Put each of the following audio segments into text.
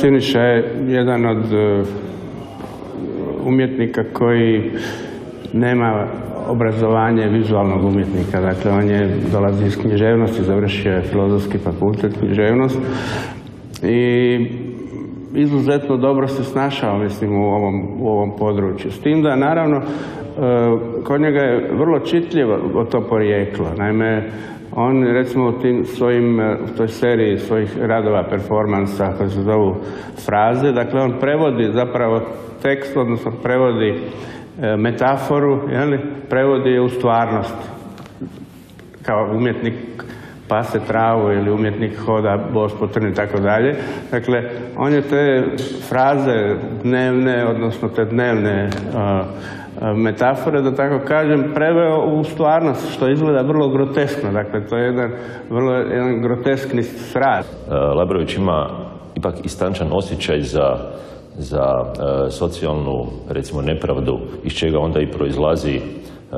Siniša je jedan od umjetnika koji nema obrazovanje vizualnog umjetnika. Dakle, on dolazi iz književnosti, završio je Filozofski fakultet književnost i izuzetno dobro se snašao, mislim, u ovom području. S tim da, naravno, kod njega je vrlo čitljivo to porijeklo. Naime, on, recimo, u toj seriji svojih radova, performansa, koje se zovu fraze, dakle, on prevodi zapravo tekst, odnosno prevodi metaforu, prevodi je u stvarnost. Kao umjetnik pase travu ili umjetnik hoda bos po trni i tako dalje. Dakle, on je te fraze dnevne, odnosno te dnevne metafore, da tako kažem, preveo u stvarnost, što izgleda vrlo groteskno. Dakle, to je jedan groteskni sraz. Labrović ima ipak istančan osjećaj za socijalnu, recimo, nepravdu, iz čega onda i proizlazi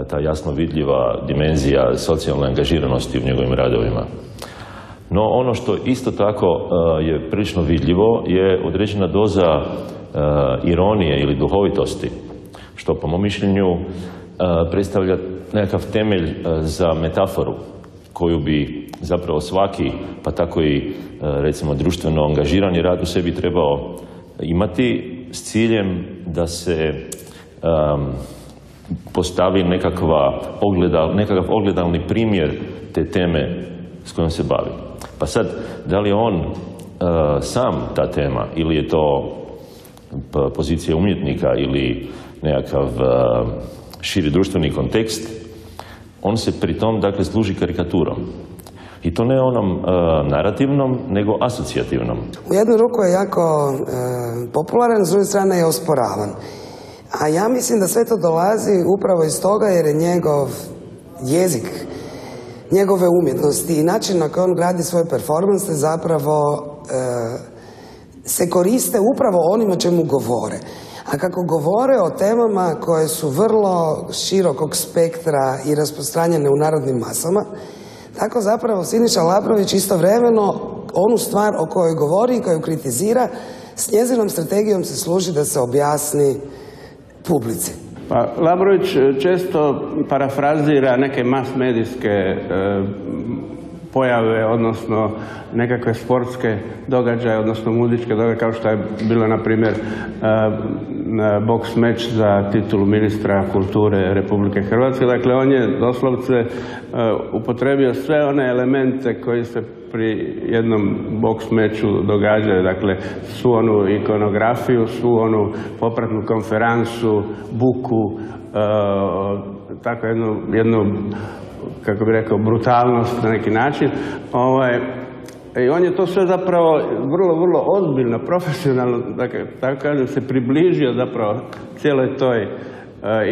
ta jasno vidljiva dimenzija socijalne angažiranosti u njegovim radovima. No, ono što isto tako je prilično vidljivo je određena doza ironije ili duhovitosti, što po mom mišljenju predstavlja nekakav temelj za metaforu koju bi zapravo svaki, pa tako i recimo društveno angažirani rad u sebi trebao imati s ciljem da se postavi nekakav ogledalni primjer te teme s kojom se bavi. Pa sad, da li je on sam ta tema ili je to pozicija umjetnika ili nekakav širi društveni kontekst, on se pri tom, dakle, služi karikaturom. I to ne onom narativnom, nego asocijativnom. U jednu ruku je jako popularan, s druge strane je osporavan. A ja mislim da sve to dolazi upravo iz toga jer je njegov jezik, njegove umjetnosti i način na koji on gradi svoje performanse zapravo se koriste upravo onima čemu govore. A kako govore o temama koje su vrlo širokog spektra i rasprostranjene u narodnim masama, tako zapravo Siniša Labrović istovremeno onu stvar o kojoj govori i koju kritizira, s njezinom strategijom se služi da se objasni publici. Pa, Labrović često parafrazira neke mas-medijske pojave, odnosno nekakve sportske događaje, odnosno muzičke događaje, kao što je bilo, na primjer, boks meč za titulu ministra kulture Republike Hrvatske. Dakle, on je doslovce upotrebio sve one elemente koji se pri jednom boks meču događaju. Dakle, svu onu ikonografiju, svu onu popratnu konferansu, buku, tako jednu kako bi rekao, brutalnost na neki način. I on je to sve zapravo vrlo ozbiljno, profesionalno, dakle, tako kažem, se približio zapravo cijeloj toj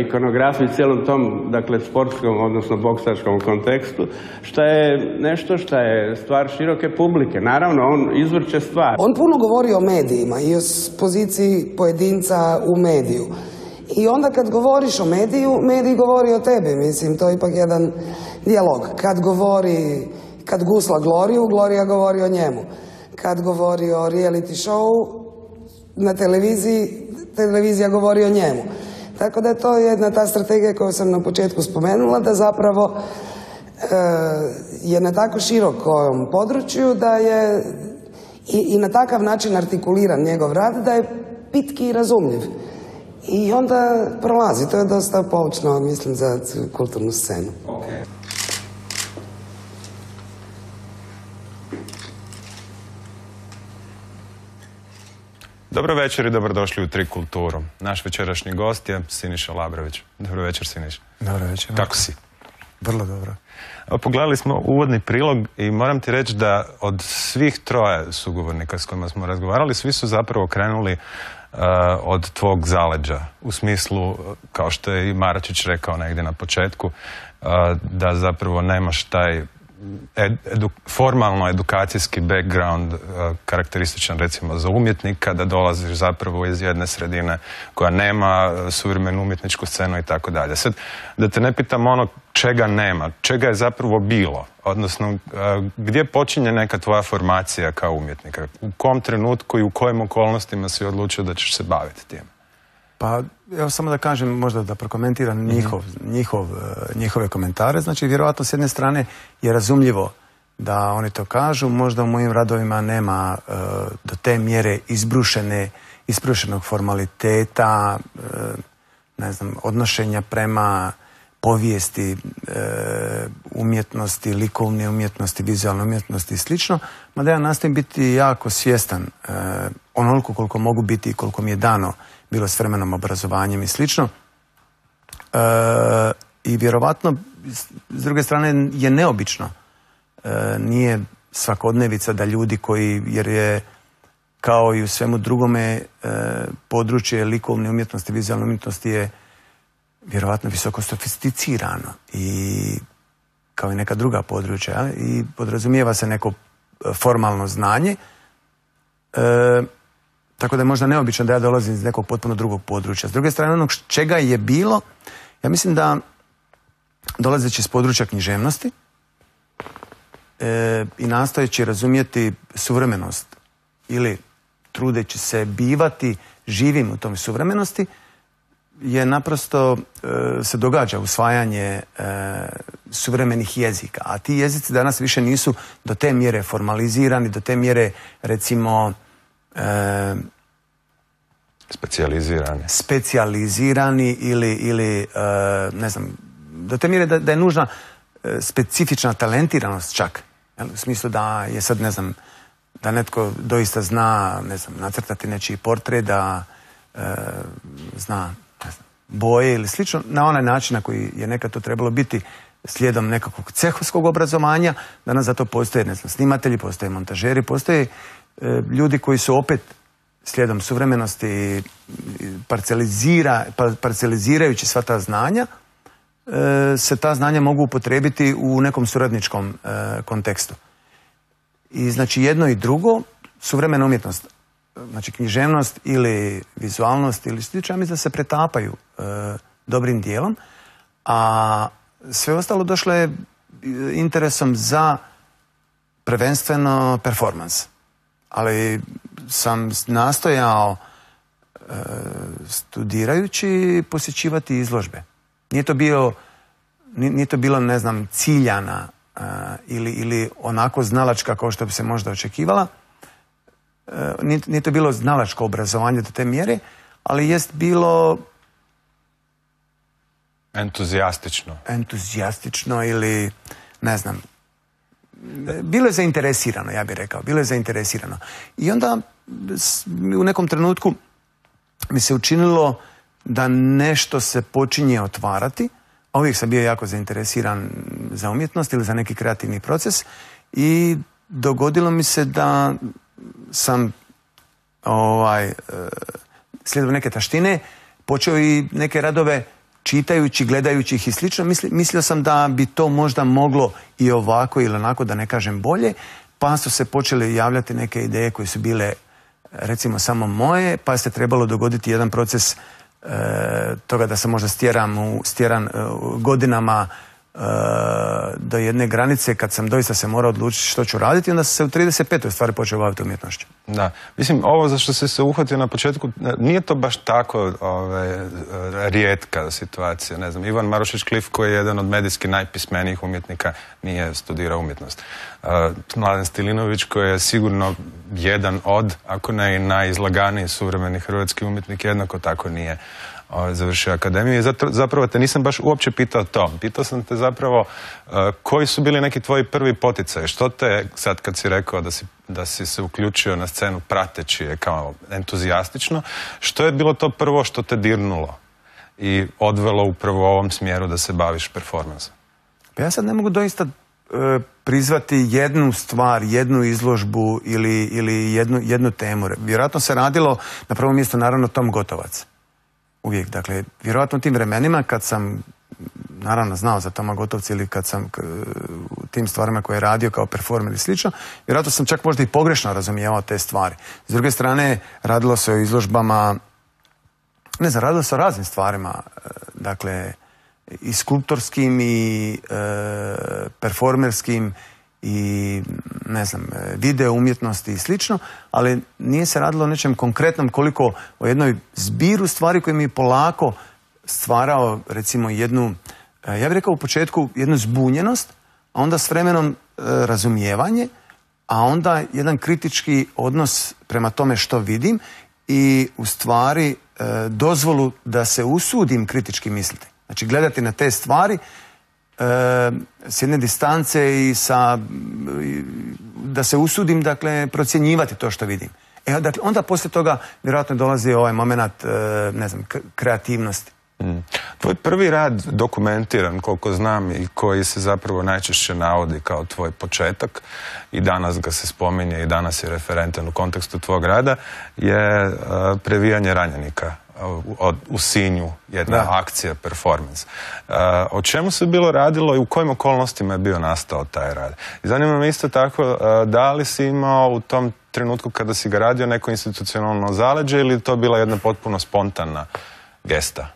ikonografiji, cijelom tom, dakle, sportskom, odnosno boksačkom kontekstu, što je nešto što je stvar široke publike. Naravno, on izvrće stvar. On puno govori o medijima i o poziciji pojedinca u mediju. I onda kad govoriš o mediju, medij govori o tebi, mislim, to je ipak jedan dijalog. Kad gusla Gloriju, Glorija govori o njemu. Kad govori o reality show na televiziji, televizija govori o njemu. Tako da je to jedna ta strategija koju sam na početku spomenula, da zapravo je na tako širokom području da je i na takav način artikuliran njegov rad da je pitki i razumljiv. I onda prolazi, to je dosta poučno, mislim, za kulturnu scenu. Okay. Dobro večer i dobrodošli u Tri kulturu. Naš večerašnji gost je Siniša Labrović. Dobro večer, Siniša. Dobro večer. Kako si? Vrlo dobro. Pogledali smo uvodni prilog i moram ti reći da od svih troje sugovornika s kojima smo razgovarali, svi su zapravo krenuli od tvog zaleđa. U smislu, kao što je i Maračić rekao negdje na početku, da zapravo nemaš taj formalno edukacijski background karakterističan recimo za umjetnika, da dolaziš zapravo iz jedne sredine koja nema suvremenu umjetničku scenu i tako dalje. Sad, da te ne pitam ono čega nema, čega je zapravo bilo, odnosno gdje počinje neka tvoja formacija kao umjetnika, u kom trenutku i u kojim okolnostima si odlučio da ćeš se baviti tim? Pa, evo samo da kažem, možda da prokomentiram njihove komentare. Znači, vjerojatno s jedne strane je razumljivo da oni to kažu. Možda u mojim radovima nema do te mjere izbrušenog formaliteta, ne znam, odnošenja prema povijesti, umjetnosti, likovne umjetnosti, vizualne umjetnosti i slično. Mada ja nastojim biti jako svjestan onoliko koliko mogu biti i koliko mi je dano bilo s vremenom, obrazovanjem i slično. I vjerovatno, s druge strane, je neobično. Nije svakodnevica da ljudi koji, jer je kao i u svemu drugome područje likovne umjetnosti, vizualne umjetnosti je vjerovatno visoko sofisticirano i kao i neka druga područja i podrazumijeva se neko formalno znanje. Tako da je možda neobično da ja dolazim iz nekog potpuno drugog područja. S druge strane, onog čega je bilo, ja mislim da dolazeći iz područja književnosti i nastojeći razumjeti suvremenost ili trudeći se bivati živim u tom suvremenosti, je naprosto se događa usvajanje suvremenih jezika. A ti jezici danas više nisu do te mjere formalizirani, do te mjere, recimo, specijalizirani ili ne znam, do te mjere da je nužna specifična talentiranost čak. U smislu da je sad, ne znam, da netko doista zna, ne znam, nacrtati nečiji portret, da zna, ne znam, boje ili slično, na onaj način na koji je nekad to trebalo biti slijedom nekakvog cehovskog obrazovanja. Danas za to postoje, ne znam, snimatelji, postoje montažeri, postoje ljudi koji su opet slijedom suvremenosti parcelizirajući sva ta znanja, se ta znanja mogu upotrijebiti u nekom suradničkom kontekstu. I znači jedno i drugo, suvremena umjetnost, znači književnost ili vizualnost ili slično, mislim da se pretapaju dobrim dijelom, a sve ostalo došlo je interesom za prvenstveno performans. Ali sam nastojao studirajući posjećivati izložbe. Nije to bilo, ne znam, ciljana ili onako znalačka kao što bi se možda očekivala. Nije to bilo znalačko obrazovanje do te mjere, ali jest bilo entuzijastično ili, ne znam, bilo je zainteresirano, ja bih rekao. Bilo je zainteresirano. I onda u nekom trenutku mi se učinilo da nešto se počinje otvarati. A uvijek sam bio jako zainteresiran za umjetnost ili za neki kreativni proces. I dogodilo mi se da sam slijedom neke taštine počeo i neke radove čitajući, gledajući ih i slično, mislio sam da bi to možda moglo i ovako ili onako, da ne kažem bolje, pa su se počele javljati neke ideje koje su bile, recimo, samo moje, pa se trebalo dogoditi jedan proces toga da sam možda stjeran godinama do jedne granice kad sam doista se morao odlučiti što ću raditi, onda sam se u 35. stvari počeo baviti umjetnošću. Da, mislim, ovo za što si se uhvatio na početku, nije to baš tako rijetka situacija. Ne znam, Ivan Marušić-Klif, koji je jedan od medijski najpismenijih umjetnika, nije studirao umjetnost. Mladen Stilinović, koji je sigurno jedan od, ako ne i najizlaganiji suvremeni hrvatski umjetnik, jednako tako nije završio akademiju. I zapravo te nisam baš uopće pitao to. Pitao sam te zapravo koji su bili neki tvoji prvi poticaji. Što te, sad kad si rekao da si se uključio na scenu prateći je kao entuzijastično, što je bilo to prvo što te dirnulo i odvelo upravo u ovom smjeru da se baviš performansom? Pa ja sad ne mogu doista prizvati jednu stvar, jednu izložbu ili jednu temu. Vjerojatno se radilo na prvom mjestu naravno Tom Gotovac. Uvijek, dakle, vjerojatno u tim vremenima kad sam naravno znao za Toma Gotovca ili kad sam u tim stvarima koje je radio kao performer i slično, vjerojatno sam čak možda i pogrešno razumijevao te stvari. S druge strane, radilo se o izložbama, ne znam, radilo se o raznim stvarima, dakle, i skulptorskim i performerskim i ne znam, video umjetnosti i slično, ali nije se radilo o nečem konkretnom koliko o jednoj zbiru stvari koje mi je polako stvarao recimo jednu, ja bih rekao u početku jednu zbunjenost, a onda s vremenom razumijevanje, a onda jedan kritički odnos prema tome što vidim i u stvari dozvolu da se usudim kritički misliti. Znači gledati na te stvari s jedne distance i da se usudim, dakle, procjenjivati to što vidim. Dakle, onda poslije toga vjerojatno dolazi ovaj moment, ne znam, kreativnosti. Tvoj prvi rad dokumentiran, koliko znam, i koji se zapravo najčešće navodi kao tvoj početak i danas ga se spominje i danas je referentan u kontekstu tvog rada, je Previjanje ranjenika u Sinju, jedna akcija, performance. O čemu se bilo radilo i u kojim okolnostima je bio nastao taj rad? I zanima me isto tako, da li si imao u tom trenutku kada si ga radio neko institucionalno zaleđe ili je to bila jedna potpuno spontana gesta?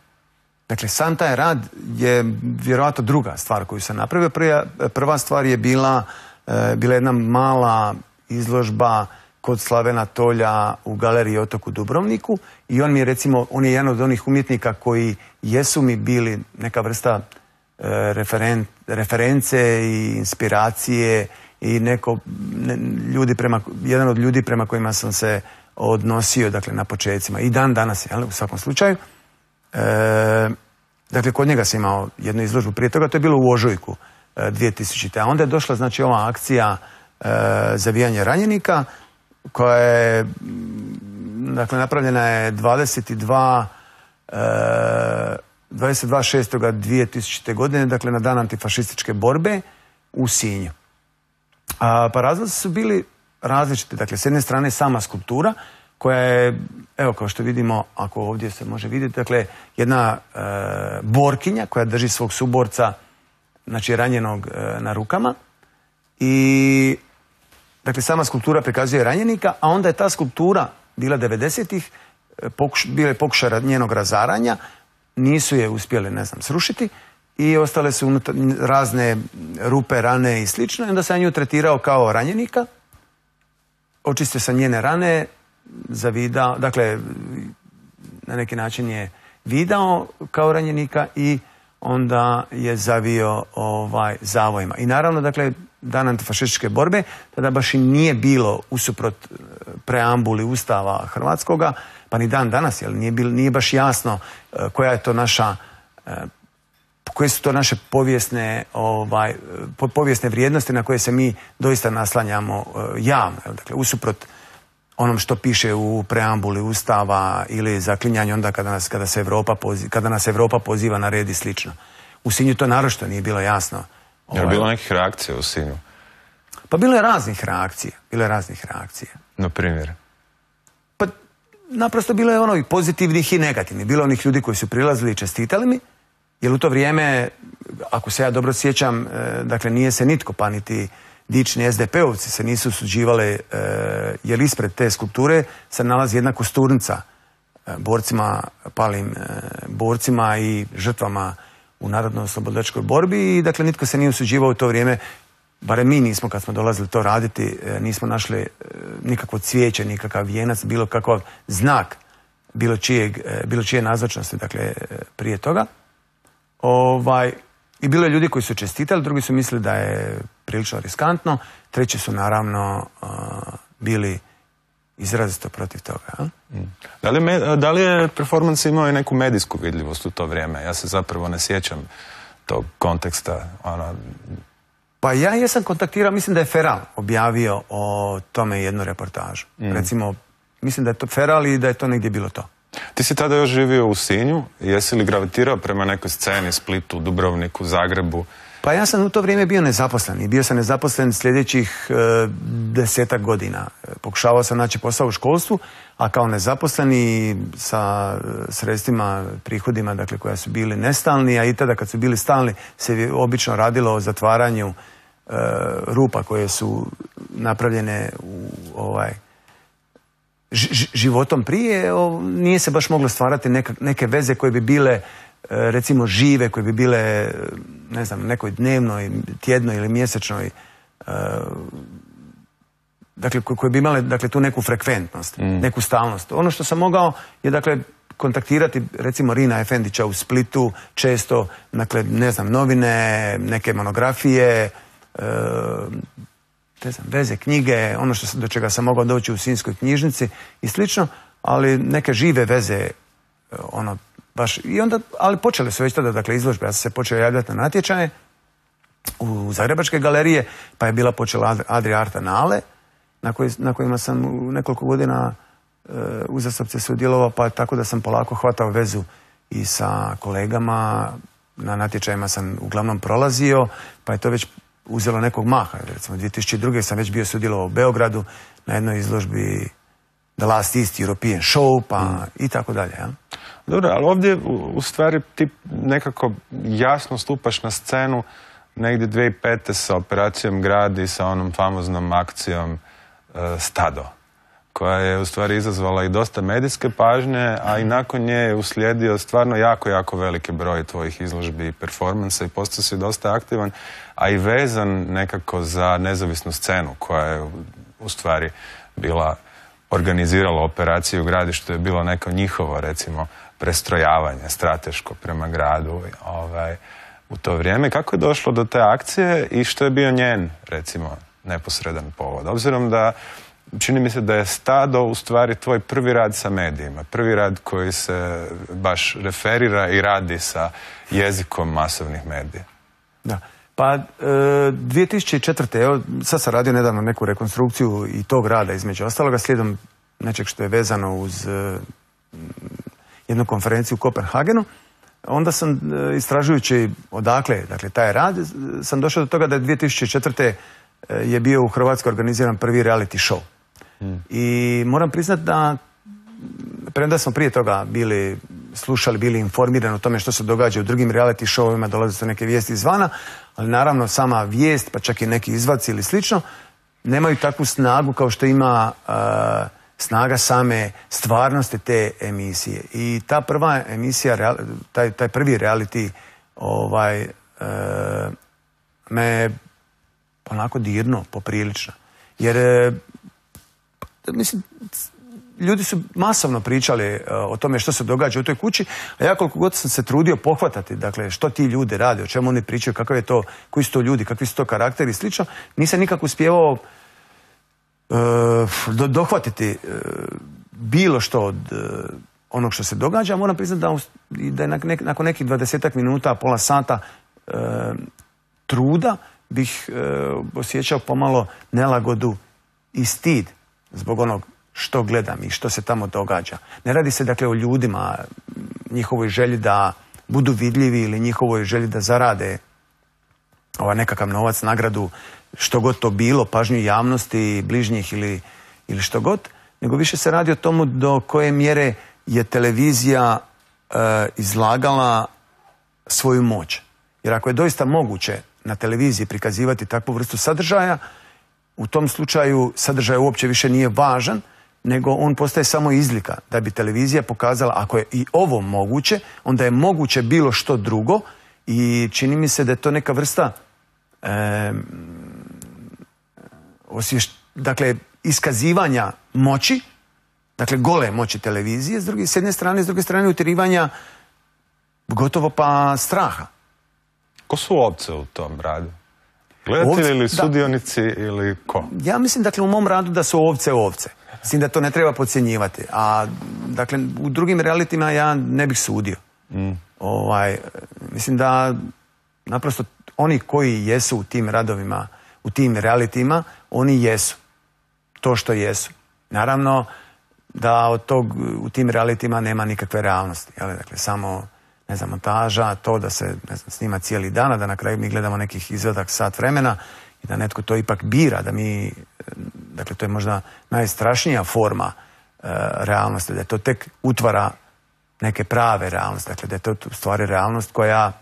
Dakle, sam taj rad je vjerojatno druga stvar koju sam napravio. Prva stvar je bila jedna mala izložba kod Slavena Tolja u galeriji Otok u Dubrovniku i on je jedan od onih umjetnika koji jesu mi bili neka vrsta reference i inspiracije i jedan od ljudi prema kojima sam se odnosio, dakle, na počecima. I dan danas, u svakom slučaju. Dakle, kod njega sam imao jednu izložbu prije toga, to je bilo u ožujku 2000. A onda je došla, znači, ova akcija Zavijanje ranjenika, koja je, dakle, napravljena je 22.6.2000. godine, dakle, na dan antifašističke borbe u Sinju. Pa razlozi su bili različiti. Dakle, s jedne strane sama skulptura, koja je, evo, kao što vidimo, ako ovdje se može vidjeti, dakle, jedna borkinja koja drži svog suborca, znači ranjenog na rukama i, dakle, sama skulptura prikazuje ranjenika, a onda je ta skulptura bila 90-ih, bila je pokušaj njenog razaranja, nisu je uspjeli, ne znam, srušiti i ostale su razne rupe, rane i slično i onda sam nju tretirao kao ranjenika, očistio sam njene rane, zavidao, dakle, na neki način je vidao kao ranjenika i onda je zavio zavojima. I naravno, dakle, dan antifašističke borbe, tada baš i nije bilo usuprot preambuli Ustava hrvatskoga, pa ni dan danas, jer nije baš jasno koja je to naša, koje su to naše povijesne vrijednosti na koje se mi doista naslanjamo javno. Dakle, usuprot onom što piše u preambuli Ustava ili zaklinjanju onda kada nas Europa poziva na red i slično. U Sinju to naročito nije bilo jasno. Je li bilo nekih reakcija u Sinju? Pa bilo je raznih reakcija. Na primjer? Pa naprosto bilo je i pozitivnih i negativnih. Bilo je onih ljudi koji su prilazili i čestitali mi, jer u to vrijeme, ako se ja dobro sjećam, dakle, nije se nitko, pa niti dični SDP-ovci se nisu usuđivali, jer ispred te skulpture se nalazi jedna kosturnica palim borcima i žrtvama u narodno-oslobodilačkoj borbi i, dakle, nitko se nije usuđivao u to vrijeme, barem mi nismo kad smo dolazili to raditi, nismo našli nikakvo cvijeće, nikakav vijenac, bilo kakav znak bilo čije nazočnosti, dakle, prije toga. I bilo je ljudi koji su čestitali, drugi su mislili da je prilično riskantno, treći su naravno bili izrazito protiv toga. Da li je performans imao i neku medijsku vidljivost u to vrijeme? Ja se zapravo ne sjećam tog konteksta. Pa ja jesam kontaktirao, mislim da je Feral objavio o tome jednu reportažu. Recimo, mislim da je to Feral i da je to negdje bilo to. Ti si tada još živio u Sinju, jesi li gravitirao prema nekoj sceni, Splitu, Dubrovniku, Zagrebu Pa ja sam u to vrijeme bio nezaposlen i bio sam nezaposlen sljedećih 10-ak godina. Pokušavao sam naći posao u školstvu, a kao nezaposleni sa sredstvima, prihodima, dakle, koja su bili nestalni, a i tada kad su bili stalni se obično radilo o zatvaranju rupa koje su napravljene životom prije, nije se baš moglo stvarati neke veze koje bi bile recimo žive, koje bi bile, ne znam, nekoj dnevnoj, tjednoj ili mjesečnoj, dakle, koje bi imale, dakle, tu neku frekventnost, neku stalnost. Ono što sam mogao je, dakle, kontaktirati recimo Rina Efendića u Splitu često, dakle, ne znam, novine, neke monografije, ne znam, veze, knjige, ono do čega sam mogao doći u Sinjskoj knjižnici i slično, ali neke žive veze, ono, baš, i onda, ali počele su već tada, dakle, izložbe. Ja sam se počeo javljati na natječaje u Zagrebačke galerije, pa je bila počela Adria Art Annale, na kojima sam u nekoliko godina uzastopce sudjelovao, pa tako da sam polako hvatao vezu i sa kolegama. Na natječajima sam uglavnom prolazio, pa je to već uzelo nekog maha. Recimo, 2002. sam već bio sudjelovao u Beogradu na jednoj izložbi The Last East European Show, pa i tako dalje. Ja? Dobro, ali ovdje u stvari ti nekako jasno stupaš na scenu negdje 2005. sa operacijom Grad i sa onom famoznom akcijom Stado, koja je u stvari izazvala i dosta medijske pažnje, a i nakon nje je uslijedio stvarno jako, jako veliki broj tvojih izložbi i performansa i postao si dosta aktivan, a i vezan nekako za nezavisnu scenu koja je u stvari bila organizirala operaciju Grad, što je bilo neko njihovo, recimo, prestrojavanje strateško prema gradu u to vrijeme. Kako je došlo do te akcije i što je bio njen, recimo, neposredan povod? Obzirom da čini mi se da je Stado u stvari tvoj prvi rad sa medijima, prvi rad koji se baš referira i radi sa jezikom masovnih medija. Da. Pa 2004. Evo, sad sam radio nedavno neku rekonstrukciju i tog rada između ostaloga, slijedom nečeg što je vezano uz jednu konferenciju u Kopenhagenu. Onda sam, istražujući odakle, dakle, taj rad, sam došao do toga da je 2004. je bio u Hrvatskoj organiziran prvi reality show. I moram priznati da, premda smo prije toga bili informirani o tome što se događa u drugim reality showima, dolaze su neke vijesti izvana, ali naravno sama vijest, pa čak i neki izvaci ili slično, nemaju takvu snagu kao što ima snaga same stvarnosti te emisije. I ta prva emisija, taj prvi reality me onako dirno, poprilično. Jer, mislim, ljudi su masovno pričali o tome što se događa u toj kući, a ja koliko god sam se trudio pohvatati, dakle, što ti ljudi rade, o čemu oni pričaju, kakav je to, koji su to ljudi, kakvi su to karakteri i slično, nisam nikako uspijevao dohvatiti bilo što od onog što se događa. Moram priznati da je nakon nekih 20 minuta, pola sata truda bih osjećao pomalo nelagodu i stid zbog onog što gledam i što se tamo događa. Ne radi se, dakle, o ljudima, njihovoj želji da budu vidljivi ili njihovoj želji da zarade nekakav novac, nagradu, što god to bilo, pažnju javnosti, bližnjih ili što god, nego više se radi o tomu do koje mjere je televizija izlagala svoju moć. Jer ako je doista moguće na televiziji prikazivati takvu vrstu sadržaja, u tom slučaju sadržaj uopće više nije važan, nego on postaje samo izlika. Da bi televizija pokazala, ako je i ovo moguće, onda je moguće bilo što drugo i čini mi se da je to neka vrsta dakle, iskazivanja moći, dakle, gole moći televizije, s jedne strane, s druge strane utjerivanja gotovo pa straha. Ko su ovce u tom radu? Gledatelji ili sudionici ili ko? Ja mislim, dakle, u mom radu da su ovce. Mislim da to ne treba podcjenjivati. A, dakle, u drugim realitima ja ne bih sudio. Mislim da naprosto oni koji jesu u tim radovima, u tim realitima, oni jesu to što jesu. Naravno da od tog u tim realitima nema nikakve realnosti. Dakle, samo ne znam, montaža, to da se, ne znam, snima cijeli dan, a da na kraju mi gledamo nekih izvadak sat vremena i da netko to ipak bira, da mi, dakle, to je možda najstrašnija forma realnosti, da je to tek utvara neke prave realnosti, dakle, da je to u stvari realnost koja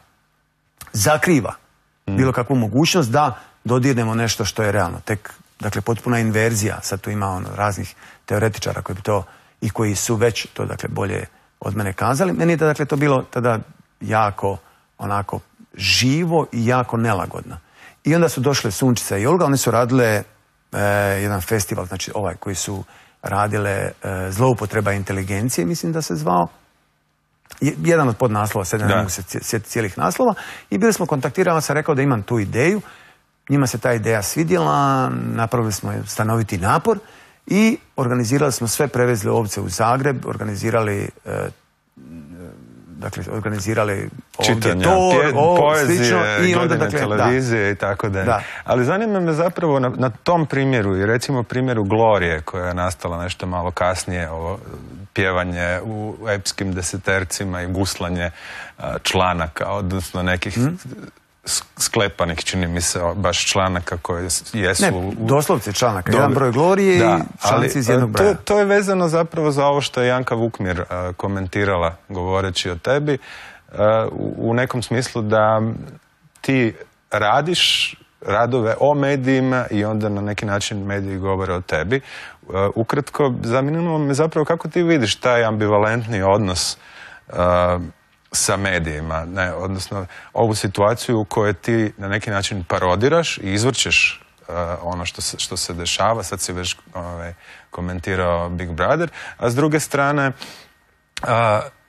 zakriva bilo kakvu mogućnost da dodirnemo nešto što je realno. Tek, dakle, potpuna inverzija. Sad tu ima raznih teoretičara koji bi to i koji su već to, dakle, bolje od mene kazali. Meni je da, dakle, to bilo tada jako onako živo i jako nelagodno. I onda su došle Sunčica i Olga, one su radile jedan festival, znači ovaj koji su radile Zloupotreba inteligencije, mislim da se zvao. Jedan od podnaslova, sad ne mogu se sjetiti cijelih naslova. I bili smo kontaktirali, sam rekao da imam tu ideju. Njima se ta ideja svidjela, napravili smo stanoviti napor i organizirali smo sve, prevezli ovce u Zagreb, organizirali čitanja, poezije, i onda, dakle, televizije i tako dalje. Ali zanima me zapravo na tom primjeru i recimo primjeru Glorije koja je nastala nešto malo kasnije, ovo pjevanje u epskim desetercima i guslanje članaka, odnosno nekih sklepanih, čini mi se, baš članaka koje jesu... Ne, doslovce članaka. Jedan broj Glorije i članci iz jednog broja. To je vezano zapravo za ovo što je Janka Vukmir komentirala govoreći o tebi, u nekom smislu da ti radiš radove o medijima i onda na neki način mediji govore o tebi. Ukratko, zanimljivo me zapravo kako ti vidiš taj ambivalentni odnos sa medijima, odnosno ovu situaciju u kojoj ti na neki način parodiraš i izvrćeš ono što se dešava, sad si već komentirao Big Brother, a s druge strane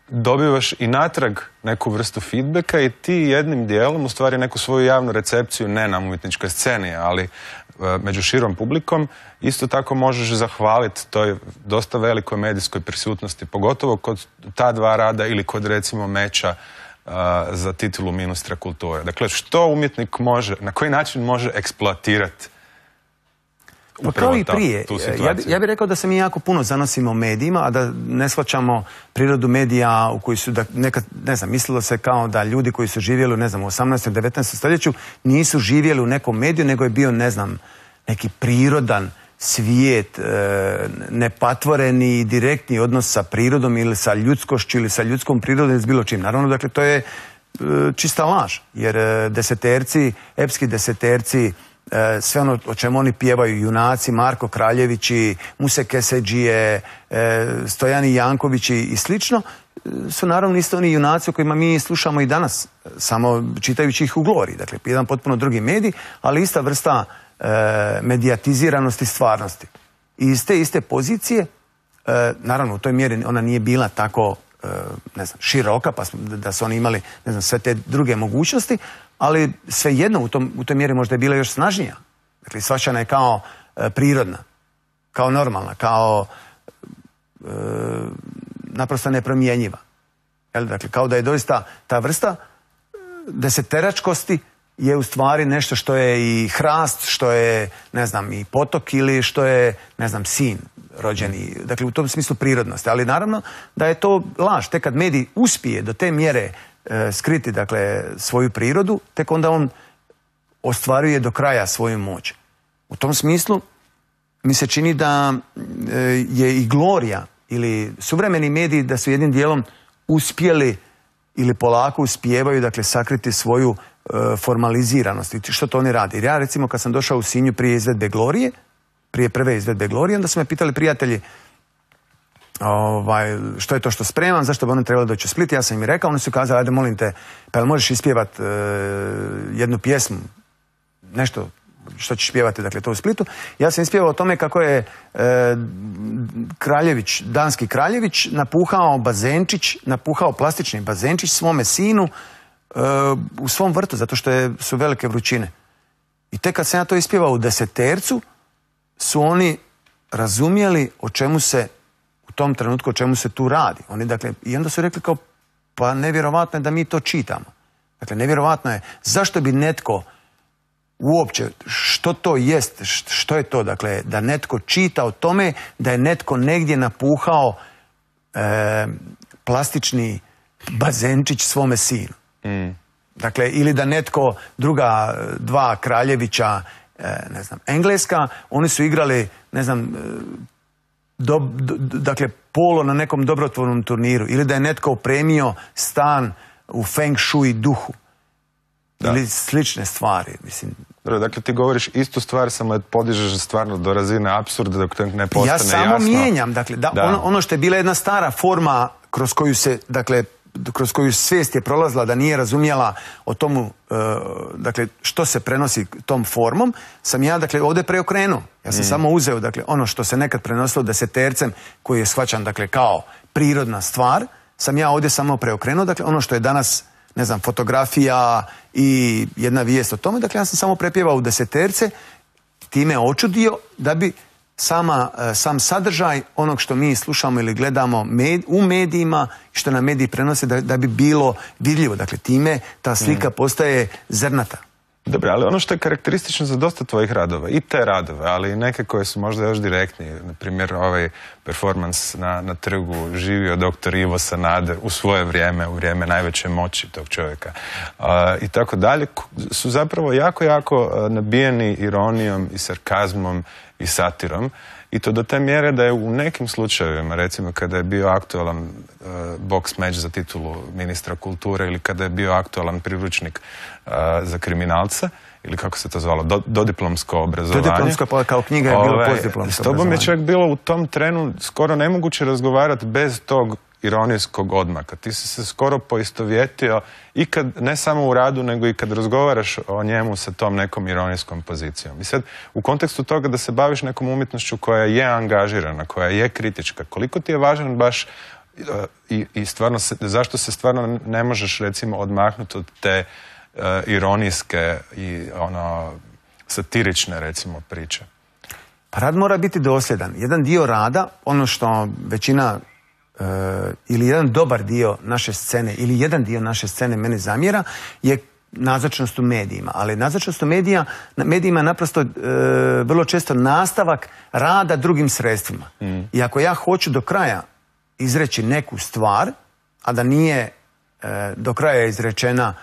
dobivaš i natrag neku vrstu feedbacka i ti jednim dijelom, u stvari neku svoju javnu recepciju, ne na umjetničkoj sceni, ali među širom publikom, isto tako možeš zahvaliti toj dosta velikoj medijskoj prisutnosti, pogotovo kod ta dva rada ili kod recimo meča za titulu ministra kulture. Dakle, što umjetnik može, na koji način može eksploatirati kao i prije. Ja bih rekao da se mi jako puno zanosimo medijima, a da ne shvaćamo prirodu medija u koji su, nekad, ne znam, mislilo se kao da ljudi koji su živjeli, ne znam, u 18. 19. stoljeću nisu živjeli u nekom mediju, nego je bio, ne znam, neki prirodan svijet, nepatvoreni i direktni odnos sa prirodom ili sa ljudskošću ili sa ljudskom prirodom ili s bilo čim. Naravno, dakle, to je čista laž, jer deseterci, epski deseterci, sve ono o čemu oni pjevaju, junaci, Marko Kraljevići, Muse Keseđije, Stojani Jankovići i slično, su naravno isto oni junaci o kojima mi slušamo i danas, samo čitajući ih u Gloriji. Dakle, jedan potpuno drugi medij, ali ista vrsta medijatiziranosti stvarnosti. I iz te iste pozicije, naravno u toj mjeri ona nije bila tako, ne znam, široka, pa da su oni imali, ne znam, sve te druge mogućnosti, ali svejedno u toj mjeri možda je bila još snažnija. Dakle, shvaćana je kao prirodna, kao normalna, kao naprosto nepromjenjiva. Dakle, kao da je doista ta vrsta deseteračkosti je u stvari nešto što je i hrast, što je, ne znam, i potok ili što je, ne znam, sin rođeni. Dakle, u tom smislu prirodnosti. Ali naravno da je to laž. Tek kad medij uspije do te mjere skriti, dakle, svoju prirodu, tek onda on ostvaruje do kraja svoju moć. U tom smislu mi se čini da je i Glorija ili suvremeni mediji da su jednim dijelom uspjeli ili polako uspijevaju, dakle, sakriti svoju formaliziranost. I što to oni radi? Jer ja, recimo, kad sam došao u Sinju prije izvedbe Glorije, prije prve izvedbe Glorije, onda su me pitali prijatelji što je to što spremam, zašto bi oni trebali doći u Split. Ja sam im rekao, oni su kazali, ajde molim te, pa jel možeš ispjevati jednu pjesmu, nešto što ćeš pjevati, dakle, to u Splitu. Ja sam ispjevao o tome kako je Kraljević, danski Kraljević, napuhao plastični bazenčić svome sinu u svom vrtu, zato što su velike vrućine. I tek kad sam ja to ispjevao u desetercu, su oni razumjeli o čemu se u tom trenutku, o čemu se tu radi. Oni, dakle, i onda su rekli kao, pa nevjerovatno je da mi to čitamo. Dakle, nevjerovatno je, zašto bi netko uopće, što to jest, što je to, dakle, da netko čita o tome, da je netko negdje napuhao plastični bazenčić svome sinu. Dakle, ili da netko, druga dva kraljevića, ne znam, Engleska, oni su igrali, ne znam, dakle, polo na nekom dobrotvornom turniru, ili da je netko opremio stan u feng shui duhu. Ili slične stvari, mislim. Dakle, ti govoriš istu stvar, samo podižeš stvarno do razine apsurda dok to ne postane jasno. Ja samo mijenjam, dakle, ono što je bila jedna stara forma kroz koju se, dakle, kroz koju svijest je prolazila da nije razumjela o tomu, dakle, što se prenosi tom formom, sam ja, dakle, ovdje preokrenuo. Ja sam samo uzeo, dakle, ono što se nekad prenosilo desetercem, koji je shvaćan, dakle, kao prirodna stvar, sam ja ovdje samo preokrenuo, dakle, ono što je danas, ne znam, fotografija i jedna vijest o tome, dakle, ja sam samo prepjevao u deseterce, time očudio da bi sam sadržaj onog što mi slušamo ili gledamo u medijima, što nam mediji prenose, da bi bilo vidljivo. Dakle, time ta slika postaje zrnata. Dobro, ali ono što je karakteristično za dosta tvojih radova, i te radove, ali i neke koje su možda još direktnije, na primjer ovaj performans na trgu živio dr. Ivo Sanader u svoje vrijeme, u vrijeme najveće moći tog čovjeka i tako dalje, su zapravo jako nabijeni ironijom i sarkazmom i satirom, i to do te mjere da je u nekim slučajevima, recimo kada je bio aktualan boks meč za titulu ministra kulture ili kada je bio aktualan priručnik za kriminalca, ili kako se to zvalo, dodiplomsko obrazovanje. Dodiplomsko, pa kao knjiga je bilo postdiplomsko obrazovanje. S tobom je čak bilo u tom trenu skoro nemoguće razgovarati bez tog ironijskog odmaka. Ti si se skoro poistovjetio i kad, ne samo u radu, nego i kad razgovaraš o njemu sa tom nekom ironijskom pozicijom. I sad, u kontekstu toga da se baviš nekom umjetnošću koja je angažirana, koja je kritička, koliko ti je važan baš i stvarno, zašto se stvarno ne možeš, recimo, odmaknuti od te ironijske i satirične, recimo, priče? Pa rad mora biti dosljedan. Jedan dio rada, ono što većina ili jedan dobar dio naše scene ili jedan dio naše scene mene zamjera je nazočnost u medijima. Ali nazočnost u medijima je naprosto vrlo često nastavak rada drugim sredstvima. I ako ja hoću do kraja izreći neku stvar, a da nije do kraja izrečena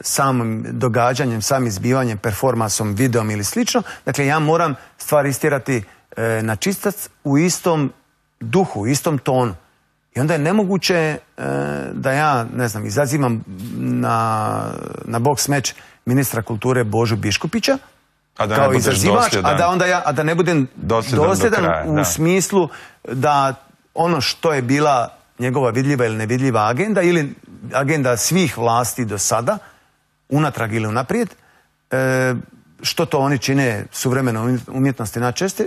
samim događanjem, samim izbivanjem, performansom, videom ili slično, dakle ja moram stvar istjerati na čistac u istom duhu, u istom tonu. I onda je nemoguće da ja, ne znam, izazivam na boks meč ministra kulture Božu Biškupića kao izazivač, a da ne budem dosljedan u smislu da ono što je bila njegova vidljiva ili nevidljiva agenda ili agenda svih vlasti do sada, unatrag ili unaprijed, što to oni čine suvremeno umjetnosti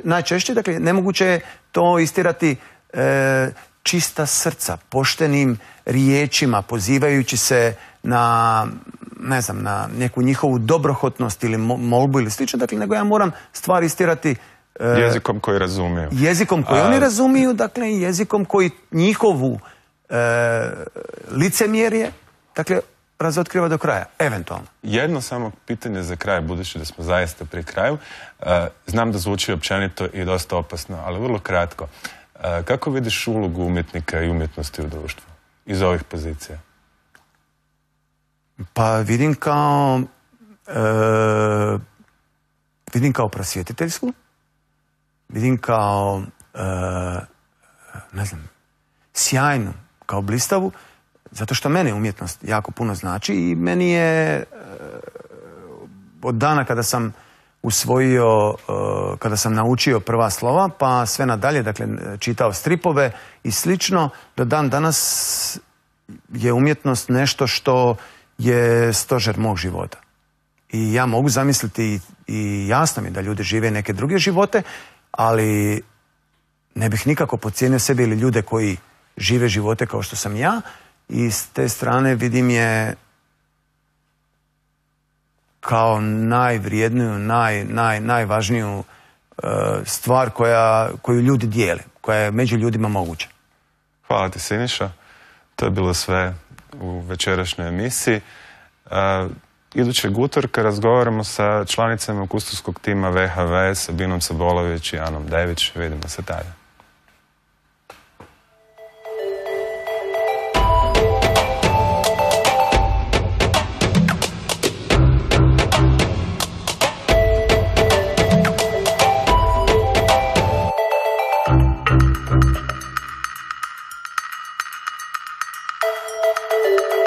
najčešće, dakle nemoguće je to istirati čista srca, poštenim riječima, pozivajući se na, ne znam, na neku njihovu dobrohotnost ili molbu ili slično, dakle, nego ja moram stvari istirati jezikom koji razumiju. Jezikom koji oni razumiju, dakle, i jezikom koji njihovu licemjerje, dakle, razotkriva do kraja, eventualno. Jedno samo pitanje za kraj, budući da smo zaista pri kraju. Znam da zvuči općenito i dosta opasno, ali vrlo kratko. Kako vidiš ulogu umjetnika i umjetnosti u društvu iz ovih pozicija? Pa vidim kao prosvjetiteljsku, vidim kao, ne znam, sjajnu, kao blistavu, zato što mene umjetnost jako puno znači i meni je od dana kada sam usvojio, kada sam naučio prva slova, pa sve nadalje, dakle, čitao stripove i slično, do dan danas je umjetnost nešto što je stožer mog života. I ja mogu zamisliti i jasno mi da ljudi žive neke druge živote, ali ne bih nikako podcijenio sebe ili ljude koji žive živote kao što sam ja, i s te strane vidim je kao najvrijedniju, najvažniju stvar koju ljudi dijele, koja je među ljudima moguća. Hvala ti, Siniša. To je bilo sve u večerašnjoj emisiji. Idućeg utorka razgovaramo sa članicama kustoskog tima VHV, Sabinom Sabolović i Anom Dević. Vidimo se tada. Thank you.